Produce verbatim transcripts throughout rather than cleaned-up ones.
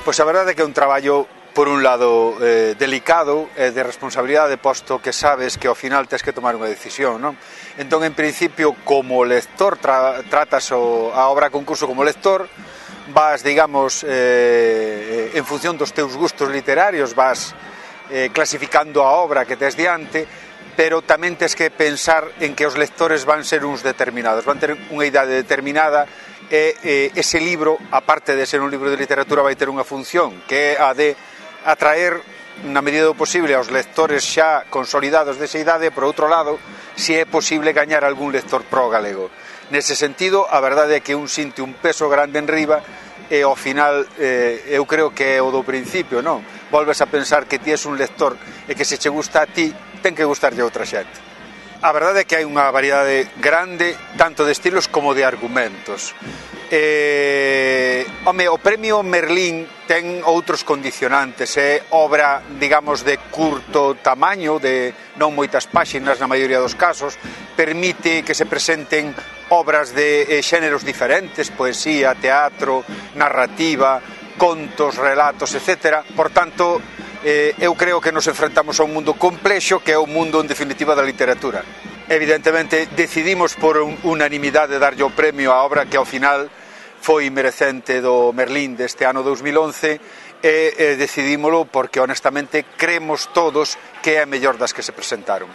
Pois a verdade é que é un traballo, por un lado, eh, delicado e de responsabilidade, posto que sabes que ao final tens que tomar unha decisión, non? Entón, en principio, como lector, tra tratas o, a obra concurso como lector, vas, digamos, eh, en función dos teus gustos literarios, vas eh, clasificando a obra que tes diante, pero tamén tes que pensar en que os lectores van ser uns determinados, van ter unha idade determinada e eh, ese libro, aparte de ser un libro de literatura, vai ter unha función que é a de atraer na medida do posible aos lectores xa consolidados desa idade, e por outro lado, se é posible gañar algún lector pro galego. Nese sentido, a verdade é que un sinte un peso grande en riba e ao final eh, eu creo que é o do principio, non? Volves a pensar que ti és un lector e que se che gusta a ti, ten que gustarlle a outra xente. A verdade é que hai unha variedade grande tanto de estilos como de argumentos. Eh, home, o premio Merlín ten outros condicionantes, é obra, digamos, de curto tamaño, de non moitas páxinas na maioría dos casos, permite que se presenten obras de eh, xéneros diferentes, poesía, teatro, narrativa, contos, relatos, etcétera. Por tanto, eh, eu creo que nos enfrentamos a un mundo complexo, que é o mundo, en definitiva, da literatura. Evidentemente, decidimos por un, unanimidade darlle o premio á obra que ao final foi merecente do Merlín deste ano dous mil once e eh, decidímolo porque honestamente creemos todos que é a mellor das que se presentaron.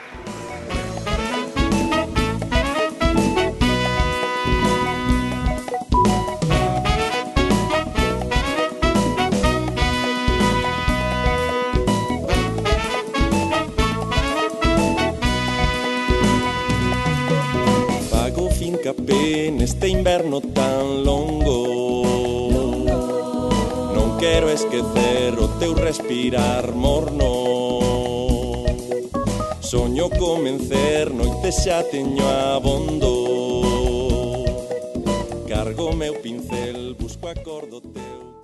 Fago fincapé neste inverno tan longo, non quero esquecer o teu respirar morno. Soño con vencer, noites xa teño abondo. Cargo meu pincel, busco acordo teu.